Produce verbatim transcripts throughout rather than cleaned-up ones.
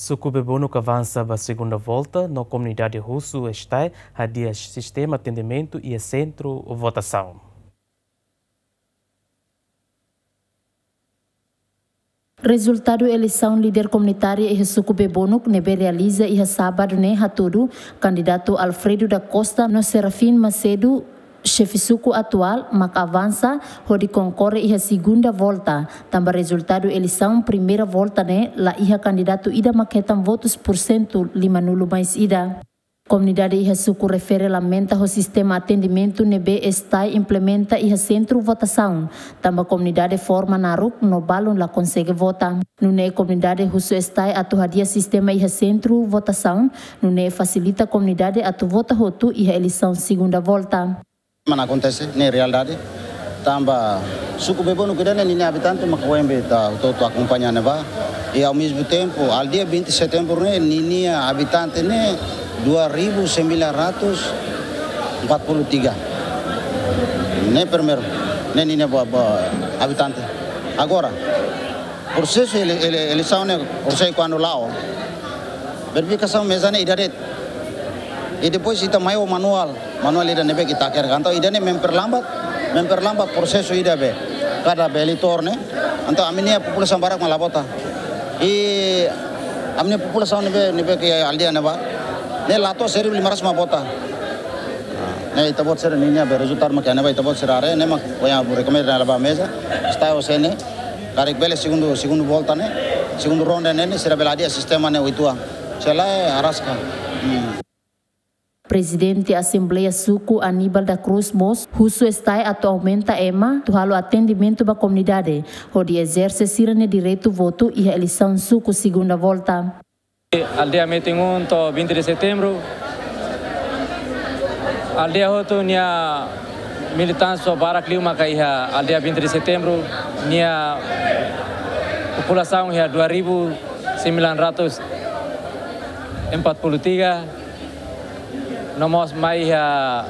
Suku Bebonuk avansa ba segunda volta, no komunidade husu STAE hadi'a sistema atendimentu iha sentru votasaun. Rezultadu eleisaun líder komunitária iha suku Bebonuk ne'ebé realiza iha sábadu ne'e hatudu kandidatu Alfredo da Costa no Serafim Macedo, xefe suku atuál, mak avansa hodi konkorre iha segunda volta, tanba rezultadu eleisaun primeira volta ne'e la iha kandidatu ida mak hetan votus pursentu limanulu mais ida. Komunidade iha suku refere lamenta ho sistema atendimentu ne'ebé STAE implementa iha sentru votasaun, tanba komunidade forma naruk no balun la konsege vota. Nune'e komunidade husu STAE atu hadi'a sistema iha sentru votasaun, nune'e fasilita komunidade atu vota hotu iha eleisaun segunda volta. Mana akontese, ne'e realidade. Tanba suku Bebonuk ida-ne'e ninia abitante mak oin be ita hotu-hotu akompaña ne'ebá. E ao mesmo tempo, aldeia vinte de setembro ne'e ninia abitante ne'e dua ribu sembilan ratus empat puluh tiga. Ne'e primeiru, ne'e ninia ba, ba abitante. Agora, prosesu ele, ele, eleisaun ne'e, prosesu kuandu la'o, verifikasaun meza ne'e ida de'it. E depois ita mai ho manuál, manuál ida ne'ebé ita hakerek. Entaun ida-ne'e memperlambat, memperlambat prosesu ida be kada be eleitór ne'e. Entaun ami-nia populasaun barak mak la vota. E ami-nia populasaun ne'ebé, ne'ebé ke aldeia ne'ebá, ne'e la to'o seribu lima ratus mak vota. Ne'e ita-boot sira ninia be rezultadu mak iha ne'ebá, ita-boot sira haree, ne'e mak ohin ha'u rekomenda ne'e la'o ba meza. STAE ho sene, karik bele segundu, segundu volta ne'e, segundu ronda ne'e, ne'e sira bele hadi'a sistema ne'e uitoan. Se lae araska. Hmm. Prezidente Asembleia Suku Aníbal da Cruz mós husu STAE atu aumenta ema atu halo atendimentu ba komunidade, hodi ezerse sira-nia direitu votu iha eleisaun suku segunda volta. Aldeia Metin um to'o vinte de setembro. Aldeia hotu nia militánsia barak liu maka iha aldeia vinte de setembro. Nia populasaun iha dua ribu sembilan ratus empat puluh tiga. No mós mai iha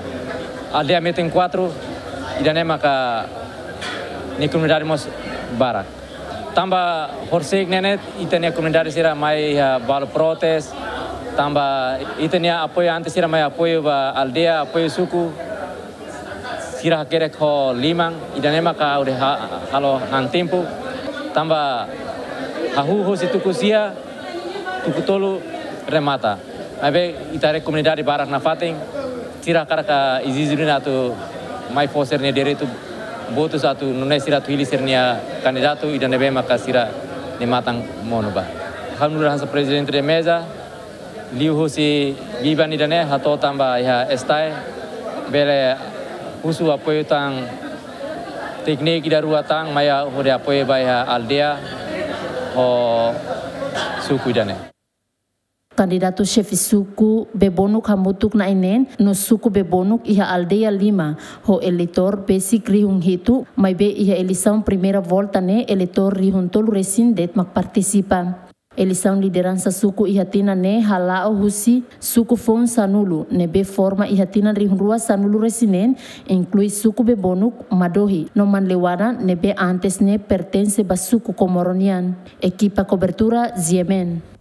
aldeia Metin quatro, ida-ne'e maka nia komunidade mós barak. Tanba horisehik ne'e ne'e, ita-nia komunidade sira mai iha balu protes, tanba ita-nia apoiu antes sira mai apoiu ba aldeia, apoiu suku, sira hakerek ho liman, ida-ne'e maka ha'u de ha-, halo han tempu, tanba hahú husi tuku sia, tuku tolu remata. Maibé ita haree komunidade barak nafatin, sira hakarak ezije duni atu mai fó sira-nia direitu votus atu nune'e sira atu hili sira-nia kandidatu ida ne'ebé maka sira-nia matan monu ba. Ha'u nu'udar hanesan prezidente de meza, liuhusi biban ida-ne'e hato'o tan ba iha STAE, bele husu apoiu tan tékniku ida rua tan mai hodi apoiu ba iha aldeia ho suku ida-ne'e. Kandidatu xefe suku Bebonuk hamutuk na'in neen no suku Bebonuk iha aldeia lima, ho eleitór besik rihun hitu, maibé iha eleisaun primeira volta ne'e eleitór rihun tolu resin de'it mak partisipa. Eleisaun lideransa suku iha tinan ne'e hala'o husi suku foun sanulu, ne'ebé forma iha tinan rihun rua sanulu resin neen, inklui suku Bebonuk, Madohi, no Manleuana, ne'ebé antes ne'e pertense ba suku Komoro nian. Ekipa kobertura, GMN.